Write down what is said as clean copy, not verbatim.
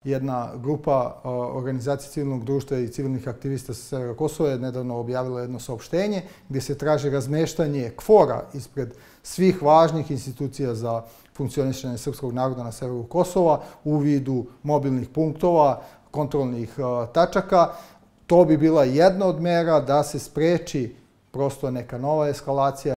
jedna grupa organizacije civilnog društva i civilnih aktivista sa severa Kosova je nedavno objavila jedno saopštenje gdje se traži razmeštanje KFOR-a ispred svih važnih institucija za funkcionisanje srpskog naroda na severu Kosova u vidu mobilnih punktova, kontrolnih tačaka. To bi bila jedna od mera da se spreči prosto neka nova eskalacija.